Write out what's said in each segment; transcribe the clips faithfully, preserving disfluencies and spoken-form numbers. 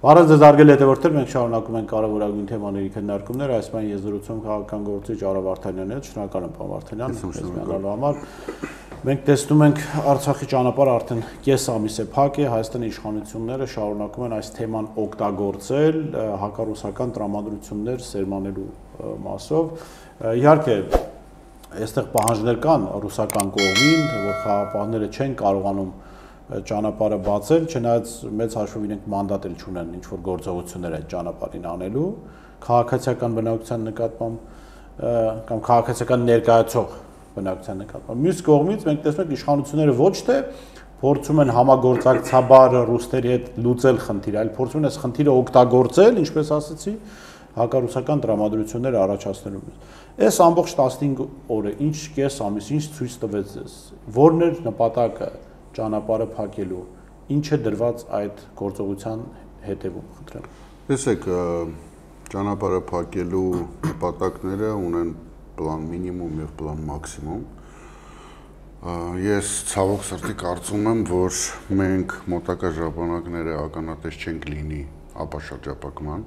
Բարև ձեզ հարգելի հետևորդներ, մենք շարունակում ենք կարևորագույն թեմաների քննարկումները, այս պայն ես զրուցում քաղաքական գործիչ Արա Վարդանյանի հետ, շնորհակալ եմ պարոն Վարդանյան, մեզ միանալու համար։ Մենք տեսնում ենք Արցախի ճանապարհը արդեն կես ամիս է փակ է, Հայաստանի իշխանությունները շարունակում են այս թեման օգտագործել հակառուսական տրամադրություններ սերմանելու մասով։ Իհարկե, այստեղ պահանջներ կան ռուսական կողմին, որ խաղաղապահները չեն կարողանում ճանապարհը բացել, չնայած մեծ հաշվով իրենք մանդատ էլ չունեն ինչ որ գործողություններ այդ ճանապարհին անելու, քաղաքացիական բնակության նկատմամբ կամ քաղաքացիական ներկայացող բնակության նկատմամբ։ Մյուս կողմից մենք տեսնում ենք իշխանությունները ոչ թե փորձում են համագործակցաբար ռուսների հետ լուծել խնդիրը, այլ փորձում են այս խնդիրը օգտագործել, ինչպես ասացի, հակառուսական տրամադրություններ առաջացնելու։ Այս ամբողջ տասնհինգ օրը ինչ կես ամիս ինչ ցույց տվեց ձեզ, որն էր նպատակը ճանապարհը փակելու, ինչ է դրված այդ գործողության հետևում, խնդրեմ։ Տեսեք, ճանապարհը փակելու նպատակները ունեն պլան մինիմում եւ պլան մաքսիմում։ Ես ցավոք սրտի կարծում եմ, որ մենք մոտակա ժամանակները ականատես չենք լինի ապաշրջապակման,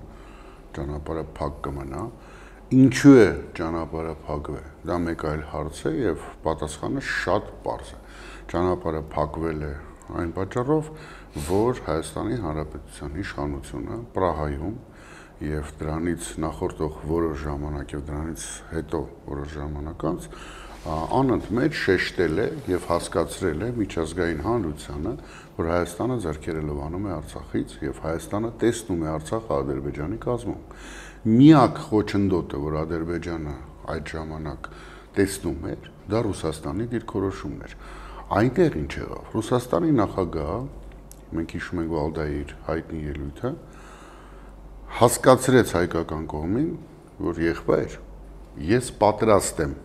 ճանապարհը փակ կմնա։ Ինչու է ճանապարհը փակվել։ Դա մեկ այլ հարց է եւ պատասխանը շատ պարզ է։ Ճանապարհը փակվել է այն պատճառով, որ Հայաստանի Հանրապետության իշխանությունը Պրահայում եւ դրանից նախորդող որոշ ժամանակ եւ դրանից հետո որոշ ժամանակ անց անընդմեջ շեշտել է եւ հասկացրել է միջազգային հանրությանը, որ Հայաստանը ձեռքերը լվանում է Արցախից եւ Հայաստանը տեսնում է Արցախը Ադրբեջանի կազմում։ Միակ խոչընդոտը, որ Ադրբեջանը այդ ժամանակ տեսնում էր, դա Ռուսաստանի դիրքորոշումն էր։ Այնտեղ ինչ եղավ։ Ռուսաստանի նախագահը, մենք հիշում ենք Վալդայի հայտնի ելույթը, հասկացրեց հայկական կողմին, որ եղբայր, ես պատրաստ եմ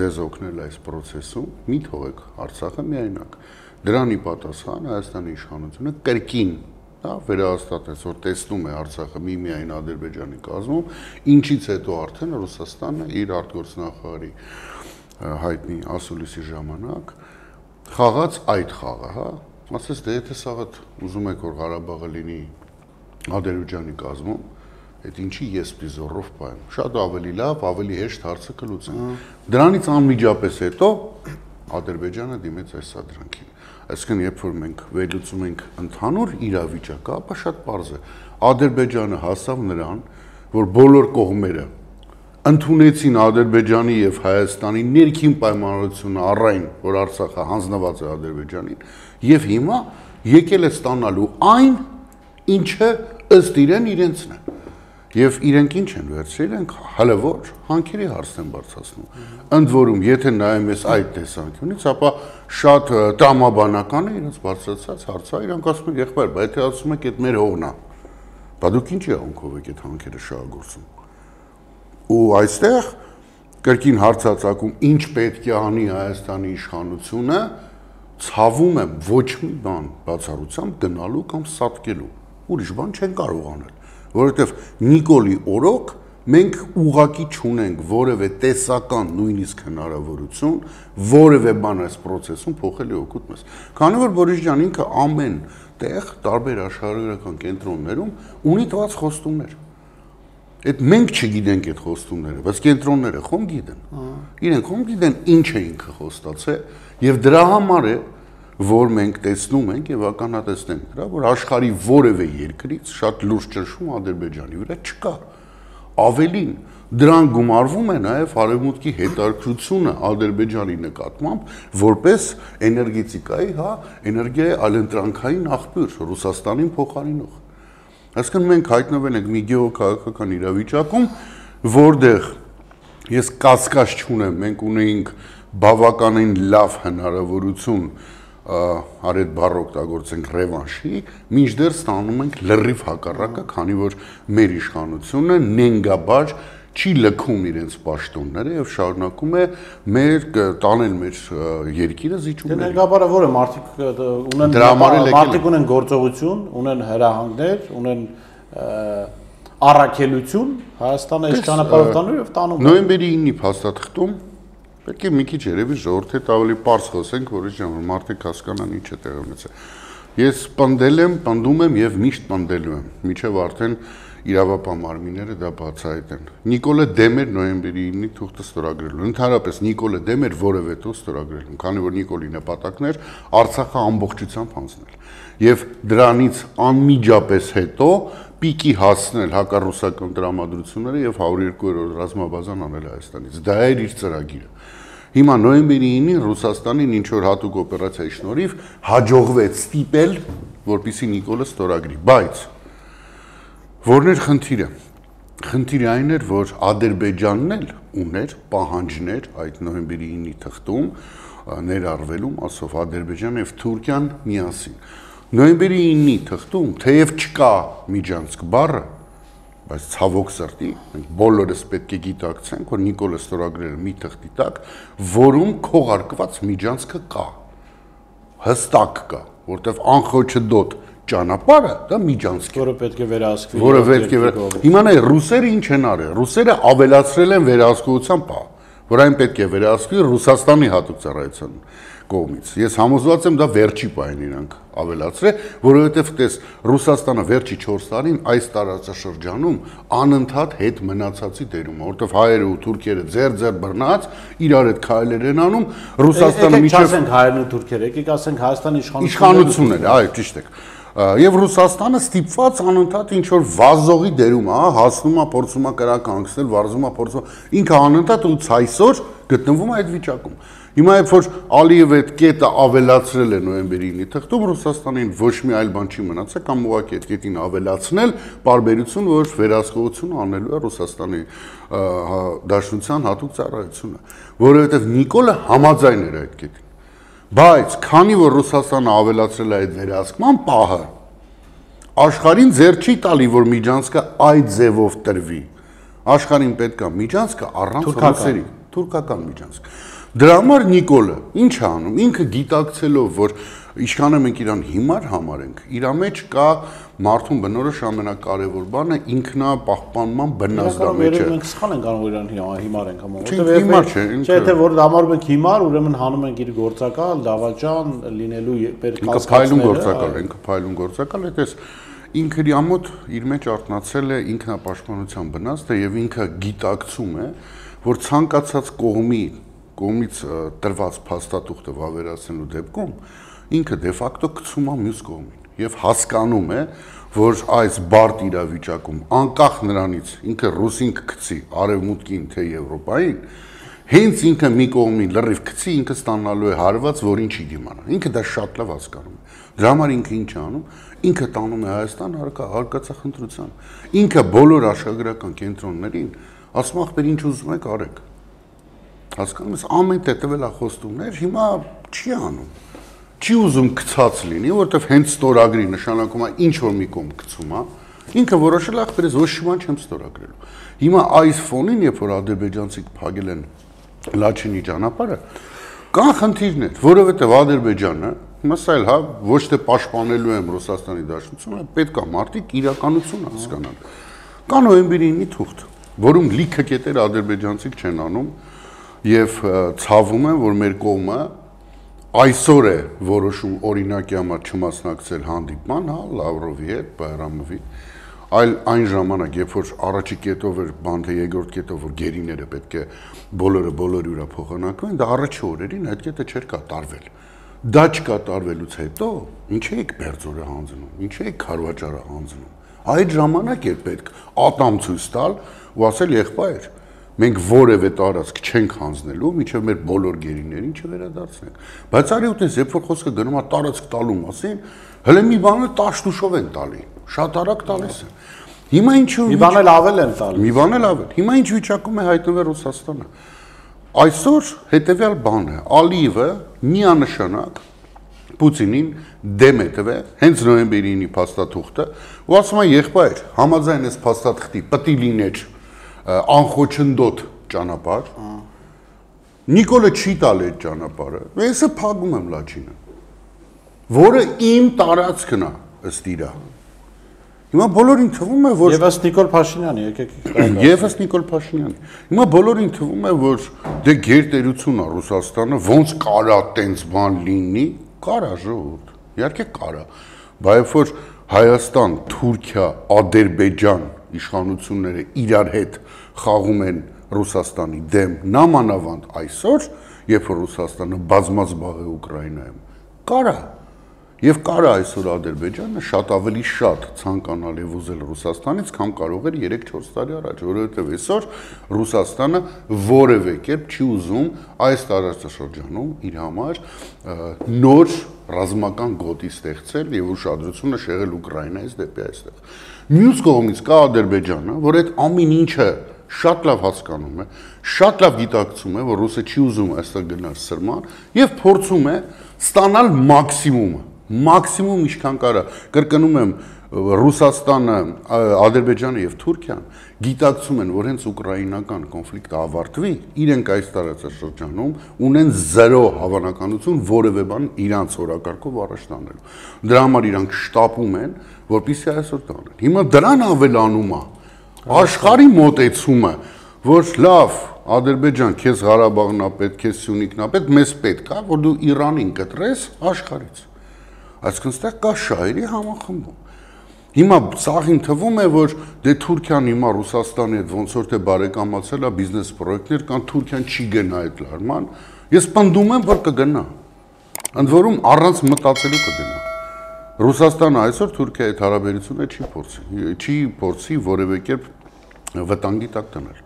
ձեզ օգնել այս process-ում, մի թողեք Արցախը միայնակ։ Դրանի պատասխան Հայաստանի իշխանությունը կրկին, դա վերահաստատեց, որ տեսնում է Արցախը միմիայն Ադրբեջանի կազմում, ինչից հետո արդեն Ռուսաստանը իր արտգործնախարարի հայտնի ասուլիսի ժամանակ խաղաց այդ խաղը, հա, ասես դե եթե սաղը ուզում եք որ Ղարաբաղը լինի Ադրբեջանի կազմում, այդ ինչի ես պիտի զորով պայեմ, շատ ավելի լավ, ավելի հեշտ հարցը կլուծենք։ Դրանից անմիջապես հետո Ադրբեջանը դիմեց այս սադրանքին։ Այսինքն երբ որ մենք վերլուծում ենք ընդհանուր իրավիճակը, ապա շատ պարզ է։ Ադրբեջանը հասավ նրան, որ բոլոր կողմերը ընդունեցին Ադրբեջանի եւ Հայաստանի ներքին պայմանավորությունը առայն, որ Արցախը հանձնված է Ադրբեջանին, եւ հիմա եկել է ստանալու այն, ինչը ըստ իրեն իրենցն է։ Եվ իրենք ինչ են վերցրել, իրենք հələ որ հանքերի հարցն են բարձրացնում։ Ընդ որում, եթե նայում ես այդ տեսանկյունից, ապա շատ տրամաբանական է իրենց բարձրացած հարցը, իրենք ասում են, եղբայր, բայց եթե ասում եք, այդ մեր հողն է, բա դուք ինչի անկով եք այդ հանքերը շահագործում։ Ու այստեղ կրկին հարցածակում ինչ պետք է անի Հայաստանի իշխանությունը, ցավում եմ ոչ մի բան բացառությամբ գնալու կամ սատկելու։ Ուրիշ բան չեն կարող անել, որովհետև Նիկոլի օրոք մենք ուղղակի չունենք որևէ տեսական նույնիսկ հնարավորություն, որևէ բան այս process-ում փոխել է օգուտ մեզ։ Քանի որ Բորիս ջան ինքը ամեն տեղ տարբեր աշխարհագրական կենտրոններում ունի տված խոստումներ։ Այդ մենք չգիտենք այդ խոստումները, բայց կենտրոնները խոմ գիտեն։ Իրենք խոմ գիտեն ինչ է ինքը խոստացել եւ դրա համար է, որ մենք տեսնում ենք եւ ականատեսնենք դրա, որ աշխարհի որևէ երկրից շատ լուրջ ճնշում Ադրբեջանի վրա չկա։ Ավելին, դրան գումարվում է նաեւ արևմուտքի հետաքրությունը Ադրբեջանի նկատմամբ որպես էներգետիկայի, հա, էներգիայի այլընտրանքային աղբյուր Ռուսաստանին փոխարինող։ Այսինքն մենք հայտնվել ենք մի գեոքաղաքական իրավիճակում, որտեղ ես կասկած չունեմ, մենք ունեինք բավականին լավ հնարավորություն արդ բառ օգտագործենք ռևանշի, մինչդեռ ստանում ենք լրիվ հակառակը, քանի որ մեր իշխանությունը նենգաբար չի լքում իրենց պաշտոնները եւ շարունակում է մեր տանել մեր երկիրը զիջումների։ Նենգաբարը որը մարդիկ ունեն մարդիկ ունեն գործողություն, ունեն հրահանգներ, ունեն առաքելություն, Հայաստանը այս ճանապարհով տանում եւ տանում։ Նոյեմբերի ինը փաստաթղթում պետք է մի քիչ երևի ժողովրդի հետ ավելի պարզ խոսենք, որի ժամանակ մարդիկ հասկանան ինչ է տեղի ունեցել։ Ես պնդել եմ, պնդում եմ եւ միշտ պնդելու եմ, միջև արդեն իրավապահ մարմինները դա բացահայտեն։ Նիկոլը դեմ էր նոյեմբերի ինը թուղթը ստորագրելու։ Ընդհանրապես Նիկոլը դեմ էր որևէ թուղթ ստորագրելու, քանի որ Նիկոլի նպատակն էր Արցախը ամբողջությամբ հանձնել։ Եվ դրանից անմիջապես հետո պիկի հասնել հակառուսական տրամադրությունները եւ հարյուր երկու-րդ ռազմաբազան անել Հայաստանից։ Դա էր իր ծրագիրը։ Հիմա նոյեմբերի ինին Ռուսաստանին ինչ որ հատուկ օպերացիայի շնորհիվ հաջողվեց ստիպել, որպեսզի Նիկոլը ստորագրի, բայց որն էր խնդիրը։ Խնդիրը այն էր, որ Ադրբեջանն էլ ուներ պահանջներ այդ նոյեմբերի ինի թղթում ներառվելում, ասով Ադրբեջանը եւ Թուրքիան միասին։ Նոյեմբերի ինի թղթում թեև չկա միջանցք բառը, բայց ցավոք սրտի մենք բոլորս պետք է գիտակցենք, որ Նիկոլը ստորագրել է մի թղթի տակ, որում քողարկված միջանցքը կա։ Հստակ կա, որտեվ անխոչդոտ ճանապարհը դա միջանցք է, որը պետք է վերահսկվի։ Որը պետք է վեր։ Հիմա նայ ռուսերը ինչ են արել։ Ռուսերը ավելացրել են վերահսկողության պահ, որ այն պետք է վերահսկվի Ռուսաստանի հատուկ ծառայության կողմից։ Ես համոզված եմ դա վերջի պահին իրանք ավելացրել, որովհետև տես Ռուսաստանը վերջի չորս տարին այս տարածաշրջանում անընդհատ հետ մնացածի դերում է, որովհետև հայերը ու թուրքերը ձեր-ձեր բռնած իրար հետ քայլեր են անում, Ռուսաստանը միջև ասենք հայերն ու թուրքերը, եկեք ասենք Հայաստանի իշխանությունները, այո, ճիշտ է։ Եվ Ռուսաստանը ստիպված անընդհատ ինչ որ վազողի դերում է, հասնում է, փորձում է կրականգնել, վարզում է, փորձում ինքը անընդհատ ու ցայսօր գտնվում է այդ վիճակում։ Հիմա երբ որ Ալիևը այդ կետը ավելացրել է նոյեմբերի ինի թղթում, Ռուսաստանին ոչ մի այլ բան չի մնացել, կամ ուղղակի այդ կետին ավելացնել պարբերություն, որ վերահսկողությունը անելու է Ռուսաստանի Դաշնության հատուկ ծառայությունը, որովհետև Նիկոլը համաձայն էր այդ կետին։ Բայց քանի որ Ռուսաստանը ավելացրել է այդ վերահսկման պահը, աշխարհին ձեռ չի տալի, որ միջանցքը այդ ձևով տրվի։ Աշխարհին պետք է միջանցքը առանց ռուսերի, թուրքական միջանցք։ Դրա համար Նիկոլը ինչ է անում, ինքը գիտակցելով, որ ինչքան է մենք իրան հիմար համարենք, իր մեջ կա մարդուն բնորոշ ամենակարևոր բանը ինքնապահպանման բնազդամիջը։ Մենք սխալ ենք անում իրան հիմար ենք համարում, որտեղ չէ, եթե որ համարում ենք հիմար, ուրեմն հանում ենք իր գործակալ, դավաճան լինելու պետք է փայլուն գործակալ, ինքը փայլուն գործակալ է, դες ինքը իր ամոթ իր մեջ արտնացել է ինքնապաշտպանության բնազդը եւ ինքը գիտակցում է, որ ցանկացած կողմի կողմից տրված փաստաթուղթը վավերացնելու դեպքում ինքը դե ֆակտո գցում է մյուս կողմին եւ հասկանում է, որ այս բարդ իրավիճակում անկախ նրանից ինքը ռուսին կգցի արևմուտքին թե Եվրոպային, հենց ինքը մի կողմին լրիվ գցի, ինքը ստանալու է հարված, որին չի դիմանա։ Ինքը դա շատ լավ հասկանում է։ Դրա համար ինքը ինչ է անում, ինքը տանում է Հայաստան հարկածախնդրության։ Ինքը բոլոր աշխարհագրական կենտրոններին ասում ախպեր ինչ ուզում եք արեք։ Հասկանում ես, ամեն տեղ տվել է խոստումներ, հիմա չի անում։ Չի ուզում գցած լինի, որովհետև հենց ստորագրի նշանակում է ինչ որ մի կողմ գցում է, ինքը որոշել է ախպերս ոչ մի բան չեմ ստորագրելու։ Հիմա այս ֆոնին, երբ որ ադրբեջանցիք փակել են Լաչինի ճանապարհը, կան խնդիրներ, որովհետև Ադրբեջանը, մասայել հա, ոչ թե պաշտպանելու եմ Ռուսաստանի Դաշնությունը, պետք է մարդիկ իրականություն հասկանան։ Կա նոյեմբերի ինի թուղթ, որում լիքը կետեր ադրբեջանցիք չեն անում եւ ցավում են, որ մեր կողմը այսօր է որոշում օրինակի համար չմասնակցել հանդիպման, հա, Լավրովի հետ, Բայրամովի, այլ այն ժամանակ, երբ որ առաջի կետով էր բան, թե երկրորդ կետով որ գերիները պետք է բոլորը բոլորի վրա փոխանակվեն, դա առաջի օրերին այդ կետը չէր կատարվել։ Դա չկատարվելուց հետո ինչ եք Բերձորը հանձնում, ինչ եք Խարվաճարը հանձնում։ Այդ ժամանակ էր պետք ատամ ցույց տալ ու ասել եղբայր, մենք որևէ տարածք չենք հանձնելու, մինչև մեր բոլոր գերիներին չվերադարձնենք։ Բայց արի ուտես, երբ որ խոսքը գնում է տարածք տալու մասին, հələ մի բանը տաշտուշով են տալի, շատ արագ տալիս են։ Հիմա ինչու մի բան էլ ավել են տալիս։ Մի բան էլ ավել։ Հիմա ինչ վիճակում է հայտնվել Ռուսաստանը։ Այսօր հետևյալ բանը է, Ալիևը միանշանակ Պուտինին դեմ է տվել, հենց նոյեմբերի ինի փաստաթուղթը, ու ասում է եղբայր, համաձայն այս փաստաթղթի պետք է լիներ անխոչնդոտ ճանապարհ։ Նիկոլը չի տալ այդ ճանապարհը։ Ես փակում եմ Լաչինը, որը իմ տարածքն է ըստ իրա։ Հիմա բոլորին թվում է, որ Եվ ըստ Նիկոլ Փաշինյանի, եկեք Եվ ըստ Նիկոլ Փաշինյանի։ Հիմա բոլորին թվում է, որ դե գերտերություն է Ռուսաստանը, ոնց կարա տենց բան լինի, կարա ժողովուրդ։ Իհարկե կարա։ Բայց որ Հայաստան, Թուրքիա, Ադրբեջան իշխանությունները իրար հետ խաղում են Ռուսաստանի դեմ, նամանավանդ այսօր, երբ որ Ռուսաստանը բազմած բաղ է Ուկրաինայում, կարա եւ կարա այսօր Ադրբեջանը շատ ավելի շատ ցանկանալ եւ ուզել Ռուսաստանից, քան կարող էր երեք-չորս տարի առաջ, որովհետեւ այսօր Ռուսաստանը որևէ կերպ չի ուզում այս տարածաշրջանում իր համար նոր ռազմական գոտի ստեղծել եւ ուշադրությունը շեղել Ուկրաինայից դեպի այստեղ։ Մյուս կողմից կա Ադրբեջանը, որ այդ ամեն ինչը շատ լավ հասկանում է, շատ լավ գիտակցում է, որ ռուսը չի ուզում այստեղ գնալ սրման եւ փորձում է ստանալ մաքսիմումը, մաքսիմում ինչքան կարա։ Կրկնում եմ, Ռուսաստանը, Ադրբեջանը եւ Թուրքիան գիտակցում են, որ հենց ուկրաինական կոնֆլիկտը ավարտվի, իրենք այս տարածաշրջանում ունեն զերո հավանականություն որևէ բան իրանց օրակարգով առաջ տանելու։ Դրա համար իրանք շտապում են, որպեսզի այսօր տանեն։ Հիմա դրան ավելանում է աշխարհի մոտեցումը, որ լավ, Ադրբեջան, քեզ Ղարաբաղն է պետք, քեզ Սյունիքն է պետք, մեզ պետք է, որ դու Իրանին կտրես աշխարհից։ Այսինքն ստեղ կա շահերի համախմբում։ Հիմա սաղին թվում է, որ դե Թուրքիան հիմա Ռուսաստանի հետ ոնց որ թե բարեկամացել է բիզնես պրոյեկտներ, կան Թուրքիան չի գնա այդ լարման։ Ես պնդում եմ, որ կգնա։ Ընդ որում առանց մտածելու կգնա։ Ռուսաստանը այսօր Թուրքիայի հետ հարաբերությունը չի փորձի, չի փորձի որևէ կերպ վտանգի տակ դնել։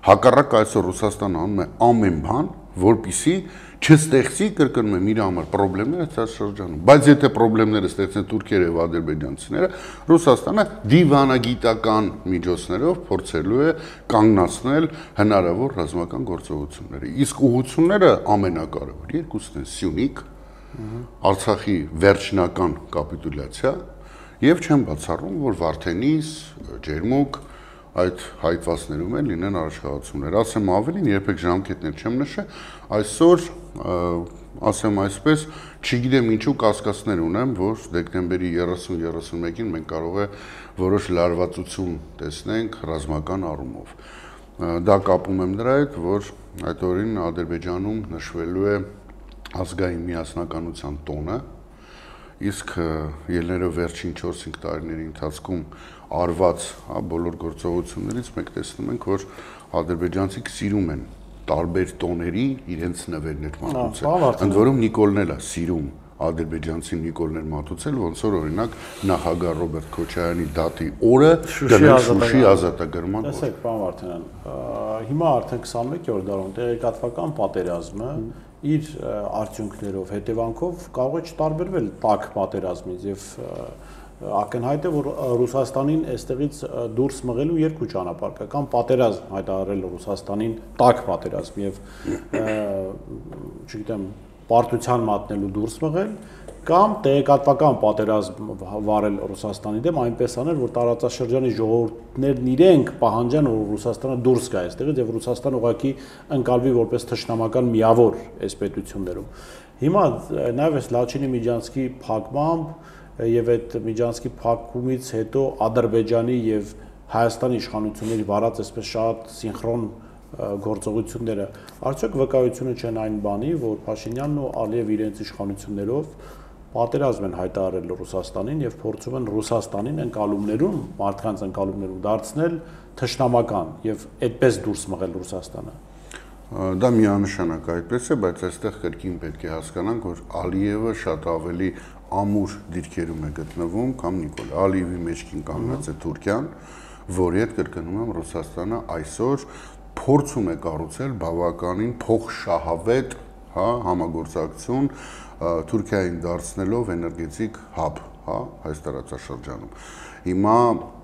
Հակառակ այսօր Ռուսաստանը անում է ամեն բան, որպեսզի չստեղծի, կրկնում եմ, իր համար խնդիրներ այս շրջանում։ Բայց եթե խնդիրները ստեղծեն թուրքերը եւ ադրբեջանցիները, Ռուսաստանը դիվանագիտական միջոցներով փորձելու է կանգնացնել հնարավոր ռազմական գործողությունները։ Իսկ ուղղությունները ամենակարևոր երկուսն են՝ Սյունիք, Արցախի վերջնական կապիտուլյացիա եւ չեմ բացառում, որ Վարդենիս, Ջերմուկ այդ հայտվածներում են լինեն առաջխաղացումներ։ Ասեմ ավելին, երբեք ժամկետներ չեմ նշել, այսօր ասեմ այսպես, չգիտեմ ինչու կասկածներ ունեմ, որ դեկտեմբերի երեսուն երեսունմեկին մենք կարող է որոշ լարվածություն տեսնենք ռազմական առումով։ Դա կապում եմ դրա հետ, որ այդ օրին Ադրբեջանում նշվելու է ազգային միասնականության տոնը, իսկ ելներով վերջին չորս-հինգ տարիների ընթացքում արված բոլոր գործողություններից մենք տեսնում ենք, որ ադրբեջանցիք սիրում են տարբեր տոների իրենց նվերներ մատուցել։ Ընդ որում Նիկոլն էլ է սիրում ադրբեջանցի Նիկոլներ մատուցել, ոնց որ օրինակ նախագահ Ռոբերտ Քոչարյանի դատի օրը Շուշի ազատագրման օր։ Տեսեք, պարոն Վարդանյան, հիմա արդեն քսանմեկերորդ դարում տեղեկատվական պատերազմը իր արդյունքներով, հետևանքով կարող է չտարբերվել տաք պատերազմից եւ ակնհայտ է, որ Ռուսաստանին այստեղից դուրս մղելու երկու ճանապարհ կա, կամ պատերազմ հայտարարել Ռուսաստանին տաք պատերազմ եւ չգիտեմ, պարտության մատնելու դուրս մղել, կամ տեղեկատվական պատերազմ վարել Ռուսաստանի դեմ, այնպես անել, որ տարածաշրջանի ժողովուրդներն իրենք պահանջեն, որ Ռուսաստանը դուրս գա այստեղից եւ Ռուսաստանը ուղղակի ընկալվի որպես թշնամական միավոր այս պետություններում։ Հիմա նաեւ այս Լաչինի Միջանցքի փակմամբ եւ այդ Միջանցքի փակումից հետո Ադրբեջանի եւ Հայաստանի իշխանությունների վարած այսպես շատ սինխրոն գործողությունները արդյոք վկայությունը չեն այն բանի, որ Փաշինյանն ու Ալիև իրենց իշխանություններով պատերազմ են հայտարարել Ռուսաստանին եւ փորձում են Ռուսաստանին ընկալումներում, մարդկանց ընկալումներում դարձնել թշնամական եւ այդպես դուրս մղել Ռուսաստանը։ Դա միանշանակ այդպես է, բայց այստեղ կրկին պետք է հասկանանք, որ Ալիևը շատ ավելի ամուր դիրքերում է գտնվում, կամ Նիկոլ Ալիևի մեջքին կանգնած է Թուրքիան, որի հետ կրկնում եմ Ռուսաստանը այսօր փորձում է կառուցել բավականին փոխշահավետ, հա, համագործակցություն Թուրքիային դարձնելով էներգետիկ հաբ, հա, այս տարածաշրջանում։ Հիմա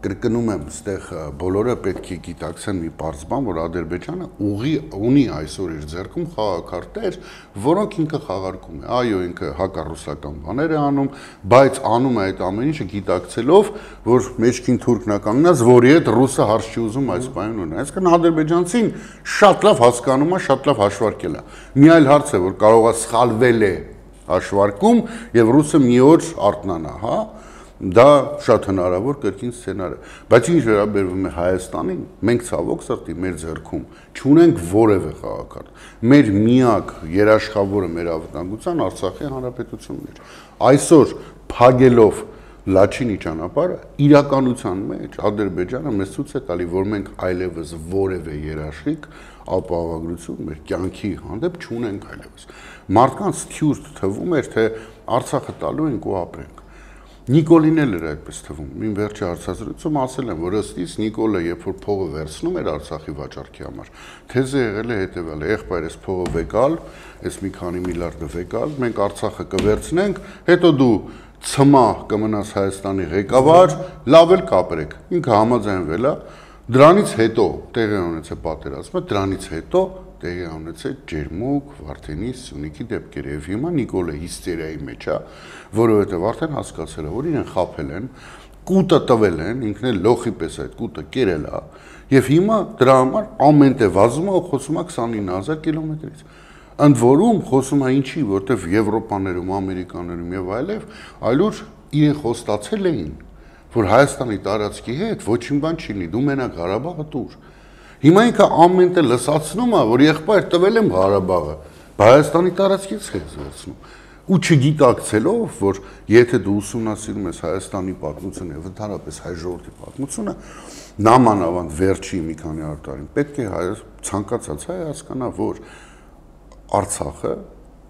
կրկնում եմ, այստեղ բոլորը պետք է գիտակցեն մի պարզ բան, որ Ադրբեջանը ուղի ունի այսօր իր ձեռքում խաղակարտեր, որոնք ինքը խաղարկում է։ Այո, ինքը հակառուսական բաներ է անում, բայց անում է այդ ամեն ինչը գիտակցելով, որ մեջքին թուրքն է կանգնած, որի հետ ռուսը հարց չի ուզում այս բանին ունենալ։ Այսինքն ադրբեջանցին շատ լավ հասկանում է, շատ լավ հաշվարկել է։ Մի այլ հարց է, որ կարող է սխալվել է հաշվարկում եւ ռուսը մի օր արթնանա, հա։ Դա շատ հնարավոր կրկին սցենար է, բայց ինչ վերաբերվում է Հայաստանին, մենք ցավոք սրտի մեր ձեռքում չունենք որևէ խաղակարդ։ Մեր միակ երաշխավորը մեր անվտանգության Արցախի հանրապետությունն էր։ Այսօր փագելով Լաչինի ճանապարհը իրականության մեջ Ադրբեջանը մեզ ցույց է տալի, որ մենք այլևս որևէ երաշխիք ապահովագրություն մեր կյանքի հանդեպ չունենք այլևս։ Մարդկանց թյուր թվում էր, թե Արցախը տալու ենք ու ապրենք։ Նիկոլին էլ էր այդպես թվում։ Մին վերջի հարցազրույցում ասել եմ, որ ըստ իս Նիկոլը երբ որ փողը վերցնում էր Արցախի վաճառքի համար, թեզը եղել է հետևյալը. եղբայր, այս փողը վեկալ, այս մի քանի միլիարդը վեկալ, մենք Արցախը կվերցնենք, հետո դու ցմա կմնաս Հայաստանի ղեկավար, լավ էլ կապրեք։ Ինքը համաձայնվել է, դրանից հետո տեղի ունեցել պատերազմը, դրանից հետո տեղի ունեցել Ջերմուկ, Վարդենիս, Սյունիքի դեպքերը եւ հիմա Նիկոլը հիստերիայի մեջ է, որովհետեւ արդեն հասկացել է, որ իրեն խաբել են, կուտը տվել են, ինքն էլ լոխի պես այդ կուտը կերել է եւ հիմա դրա համար ամեն տեղ վազում է ու խոսում է քսանինը հազար կիլոմետրից։ Ընդ որում խոսում է ինչի, որտեվ Եվրոպաներում, Ամերիկաներում եւ այլև այլուր իրեն խոստացել էին, որ Հայաստանի տարածքի հետ ոչինչ բան չի լինի, դու մենակ Ղարաբաղը տուր։ Հիմա ինքը ամեն տեղ լսացնում է, որ եղբայր տվել եմ Ղարաբաղը, Հայաստանի տարածքից հետ վերցնում։ Ու չգիտակցելով, որ եթե դու ուսումնասիրում ես Հայաստանի պատմությունը եւ ընդհանրապես հայ ժողովրդի պատմությունը, նամանավանդ վերջի մի քանի հարյուր տարին պետք է հայ ցանկացած հայ հասկանա, որ Արցախը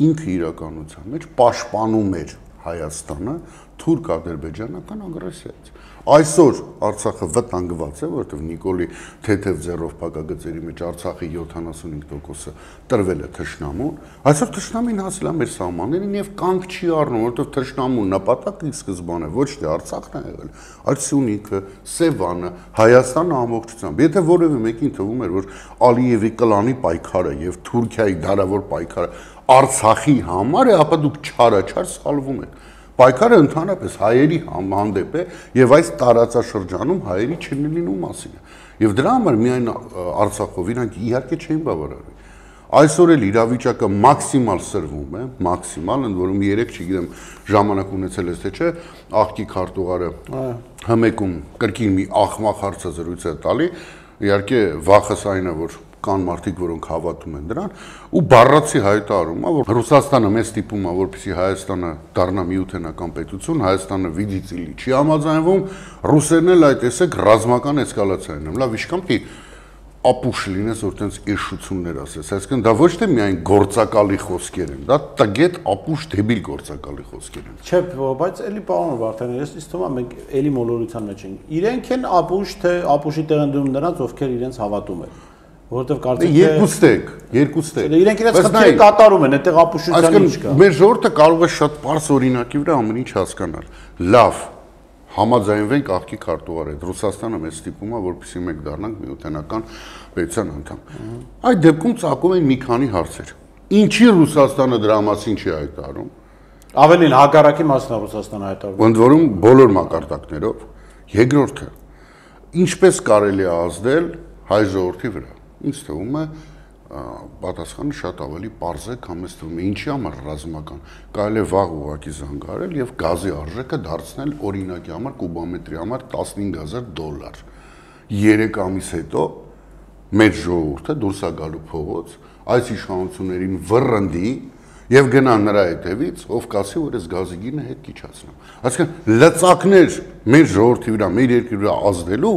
ինքը իրականության մեջ պաշտպանում էր Հայաստանը թուրք-ադրբեջանական ագրեսիայից։ Այսօր Արցախը վտանգված է, որովհետև Նիկոլի թեթև ձեռով փակագծերի մեջ Արցախի յոթանասունհինգ տոկոսը տրվել է թշնամուն, այսօր թշնամին հասել է մեր սահմաններին եւ կանգ չի առնում, որովհետև թշնամու նպատակը ի սկզբանե ոչ թե Արցախն է եղել, այլ Սյունիքը, Սևանը, Հայաստանը ամբողջությամբ։ Եթե որևէ մեկին թվում էր, որ Ալիևի կլանի պայքարը եւ Թուրքիայի դարավոր պայքարը Արցախի համար է, ապա դուք չարաչար սխալվում եք։ Պայքարը ընդհանրապես հայերի հանդեպ է եւ այս տարածաշրջանում հայերի չլինելու մասին է։ Եվ դրա համար միայն Արցախով իրանք իհարկե չէին բավարարվի։ Այսօր էլ իրավիճակը մաքսիմալ սրվում է, մաքսիմալ, ընդ որում երեք, չգիտեմ, ժամանակ ունեցել ես թե չէ, աղքի քարտուղարը հմեկում կրկին մի աղմախ հարցազրույց է տալի, իհարկե վախս այն է, որ կան մարդիկ, որոնք հավատում են դրան, ու բառացի հայտարարում է, որ Ռուսաստանը մեզ ստիպում է, որպեսզի Հայաստանը դառնա միութենական պետություն, Հայաստանը վիդիցիլի չի համաձայնվում, ռուսերն էլ այդ տեսեք ռազմական էսկալացիան են, լավ իշքան պիտի ապուշ լինես, որ տենց էշություններ ասես, այսինքն դա ոչ թե միայն գործակալի խոսքեր են, դա տգետ ապուշ դեբիլ գործակալի խոսքեր են։ Չէ, բայց էլի պարոն Վարդանյան, ես ինձ թվում է մենք էլի մոլորության մեջ ենք։ Իրենք են ապուշ, թե ապուշի տեղ են դնում նրանց, ովքեր իրենց հավատում են։ Որովհետև կարծեք թե երկուստ եք, երկուստ եք։ Իրենք իրենց խնդիրը կատարում են, այդտեղ ապուշության ինչ կա։ Մեր ժողովուրդը կարող է շատ པարզ օրինակի վրա ամեն ինչ հասկանալ։ Լավ, համաձայնվենք աղքի քարտուղարի հետ։ Ռուսաստանը մեզ ստիպում է, որպեսզի մենք դառնանք միութենական պետության անդամ։ Այդ դեպքում ծագում են մի քանի հարցեր։ Ինչի Ռուսաստանը դրա մասին չի հայտարարում։ Ավելին հակառակի մասն է Ռուսաստանը հայտարարում։ Ընդ որում բոլոր մակարդակներով։ Երկրորդը, ինչպես կարելի է ազդել հայ ժողովրդի վրա։ Ինձ թվում է պատասխանը շատ ավելի պարզ է, քան մեզ թվում է, ինչի համար ռազմական։ Կարելի է վաղ ուղղակի զանգարել եւ գազի արժեքը դարձնել օրինակի համար կուբամետրի համար տասնհինգ հազար դոլար։ երեք ամիս հետո մեր ժողովուրդը դուրս է գալու փողոց, այս իշխանություններին վռնդի եւ գնա նրա հետևից, ով կասի, որ այս գազի գինը հետ կիչացնեմ։ Այսինքն լծակներ մեր ժողովրդի վրա, մեր երկրի վրա ազդելու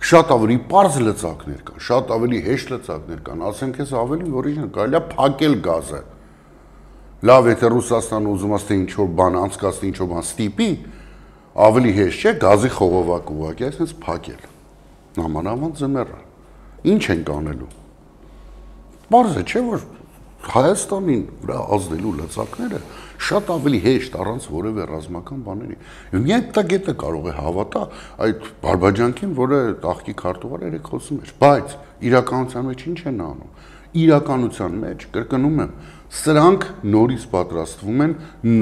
շատ ավելի པարզ լծակներ կան, շատ ավելի հեշտ լծակներ կան, ասենք ես ավելի օրինակ, կարելի է փակել գազը։ Լավ, եթե Ռուսաստանը ուզում է թե ինչ-որ բան անցկացնի, ինչ-որ բան ստիպի, ավելի հեշտ չէ գազի խողովակ ուղղակի այսպես փակել։ Նամանավանդ ձմեռը։ Ինչ ենք անելու։ Պարզ է, չէ՞ որ Հայաստանին վրա ազդելու լծակները շատ ավելի հեշտ առանց որևէ ռազմական բաների։ Եվ միայն տագետը կարող է հավատա այդ բարբաջանքին, որը աղքի քարտուղարը երեք խոսում էր, բայց իրականության մեջ ինչ են անում։ Իրականության մեջ, կրկնում եմ, սրանք նորից պատրաստվում են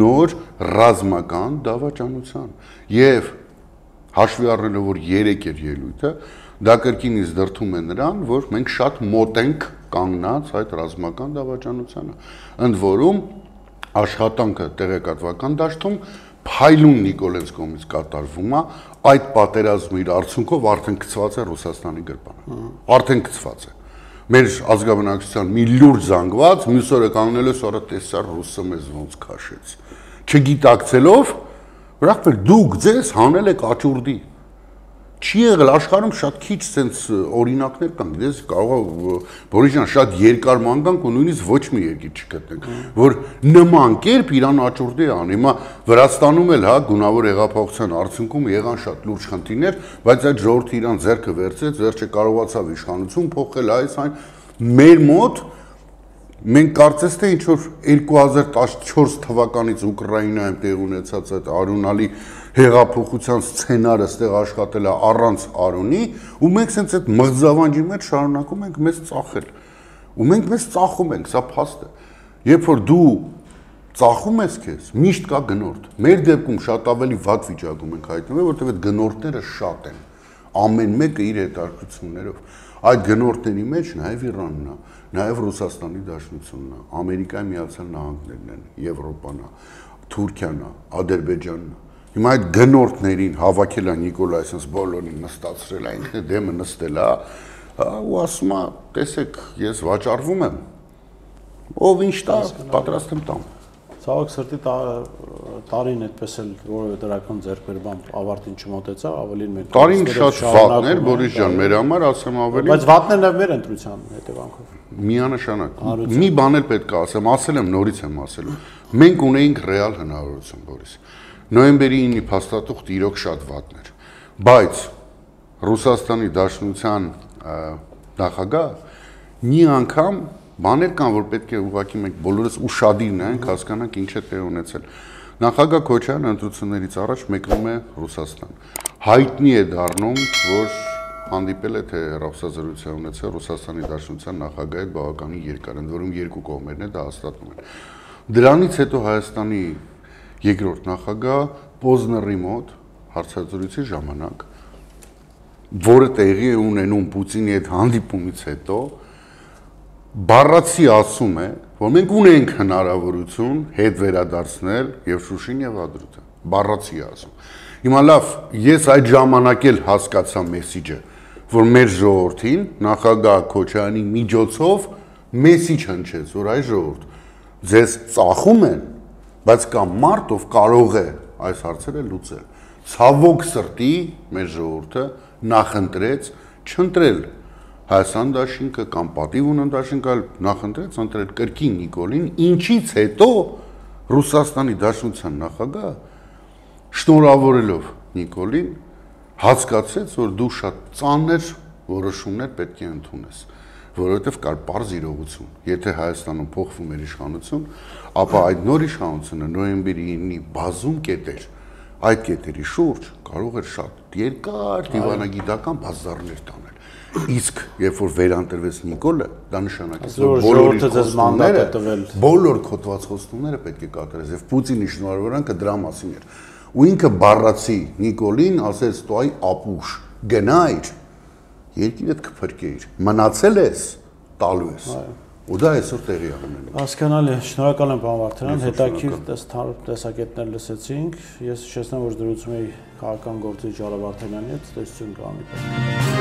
նոր ռազմական դավաճանության։ Եվ հաշվի առնելով, որ երեք էր ելույթը, դա կրկինից դրդում է նրան, որ մենք շատ մոտ ենք կանգնած այդ ռազմական դավաճանությանը։ Ընդ որում աշխատանքը տեղեկատվական դաշտում փայլուն Նիկոլենց կողմից կատարվում է, այդ պատերազմի իր արդյունքով արդեն գծված է Ռուսաստանի գրպանը։ Արդեն գծված է։ Մեր ազգաբնակչության մի լուրջ զանգված, մյուս օրը կանգնել է, սորա տեսա ռուսը մեզ ոնց քաշեց։ Չգիտակցելով, Ուրախ դուք ձեզ հանել եք աճուրդի։ Չի եղել աշխարհում շատ քիչ sense օրինակներ կան, դες կարող է Բորիս ջան շատ երկար ման գանք ու նույնիսկ ոչ մի երկիր չգտնենք, որ նման կերպ իրան աճուրդի ան։ Հիմա Վրաստանում էլ հա գունավոր հեղափոխության արդյունքում եղան շատ լուրջ խնդիրներ, բայց այդ ժողովուրդը իրան ձեռքը վերցրեց, վերջը կարողացավ իշխանություն փոխել, այս այն մեր մոտ մենք կարծես թե ինչ որ երկու հազար տասնչորս թվականից Ուկրաինայում տեղ ունեցած այդ արունալի հեղափոխության սցենարը ստեղ աշխատել է առանց արունի ու մենք սենց այդ մղձավանջի մեջ շարունակում ենք մեզ ծախել ու մենք մեզ ծախում ենք, սա փաստ է, երբ որ դու ծախում ես քեզ, միշտ կա գնորդ, մեր դեպքում շատ ավելի վատ վիճակում ենք հայտնվել, որտեղ այդ գնորդները շատ են, ամեն մեկը իր հետաքրքրություններով, այդ գնորդների մեջ նաև Իրանն է, նաև Ռուսաստանի Դաշնությունն է, Ամերիկայի Միացյալ Նահանգներն են, Եվրոպան է, Թուրքիան է, Ադրբեջանն է։ Հիմա այդ գնորդներին հավաքել է Նիկոլայ այսպես բոլորին նստացրել է, ինքն է դեմը նստել է, ու ասում է, տեսեք, ես վաճառվում եմ, ով ինչ տա, պատրաստ եմ տամ։ Ցավոք սրտի տարին այդպես էլ որևէ դրական ձեռքբերմամբ ավարտին չմոտեցավ, ավելին մենք տարին շատ վատն էր, Բորիս ջան, մեր համար ասեմ ավելի։ Բայց վատն էր մեր ընտրության հետևանքով։ Միանշանակ։ Մի բան էլ պետք է ասեմ, ասել եմ, նորից եմ ասելու։ Մենք ունեինք ռեալ հնարավորություն, Բորիս։ Նոյեմբերի ինը փաստաթուղթ իրոք շատ վատն էր, բայց Ռուսաստանի Դաշնության նախագահ մի անգամ բաներ կան, որ պետք է ուղղակի մենք բոլորս ուշադիր նայենք, հասկանանք ինչ է տեղ ունեցել։ Նախագահ Քոչարյանը ընտրություններից առաջ մեկնում է Ռուսաստան։ Հայտնի է դառնում, որ հանդիպել է թե հեռախոսազրույց ունեցել Ռուսաստանի Դաշնության նախագահի հետ բավականին երկար, ընդ որում երկու կողմերն է դա հաստատում են։ Դրանից հետո Հայաստանի երկրորդ նախագահ Պոզների մոտ հարցազրույցի ժամանակ, որը տեղի է ունենում Պուտինի հետ հանդիպումից հետո, բառացի ասում է, որ մենք ունենք հնարավորություն հետ վերադարձնել եւ Շուշին եւ Ադրուտը, բառացի ասում։ Հիմա լավ, ես այդ ժամանակ էլ հասկացա մեսիջը, որ մեր ժողովրդին նախագահ Քոչարյանի միջոցով մեսիջ հնչեց, որ այս ժողովուրդ ձեզ ծախում են, բայց կա մարդ, ով կարող է այս հարցերը լուծել։ Ցավոք սրտի մեր ժողովուրդը նախընտրեց չընտրել Հայաստան դաշինքը կամ պատիվ ունեն դաշինքը, նախընտրեց ընտրել կրկին Նիկոլին, ինչից հետո Ռուսաստանի Դաշնության նախագահը շնորհավորելով Նիկոլին հասկացեց, որ դու շատ ծանր որոշումներ պետք է ընդունես, որովհետև կար պարզ իրողություն, եթե Հայաստանում փոխվում էր իշխանություն, ապա այդ նոր իշխանությունը նոյեմբերի ինը բազում կետեր, այդ կետերի շուրջ կարող էր շատ երկար դիվանագիտական բազարներ տանել։ Իսկ երբ որ վերանտրվեց Նիկոլը, դա նշանակեց, որ բոլոր խոստումները, բոլոր կոտրված խոստումները պետք է կատարես, եւ Պուտինի շնորհավորանքը դրա մասին էր։ Ու ինքը բառացի Նիկոլին ասեց՝ «Տո այ ապուշ, գնայր, երկիրդ կփրկեիր, մնացել ես, տալու ես»։ Ու դա այսօր տեղի է ունենում։ Հասկանալի, շնորհակալ եմ պարոն Վարդանյան, հետաքրքիր տեսակետներ լսեցինք։ Ես հիշեցնեմ, որ զրուցում էի քաղաքական գործիչ Ջարա Վարդանյանի հետ, տեսություն կանոնի։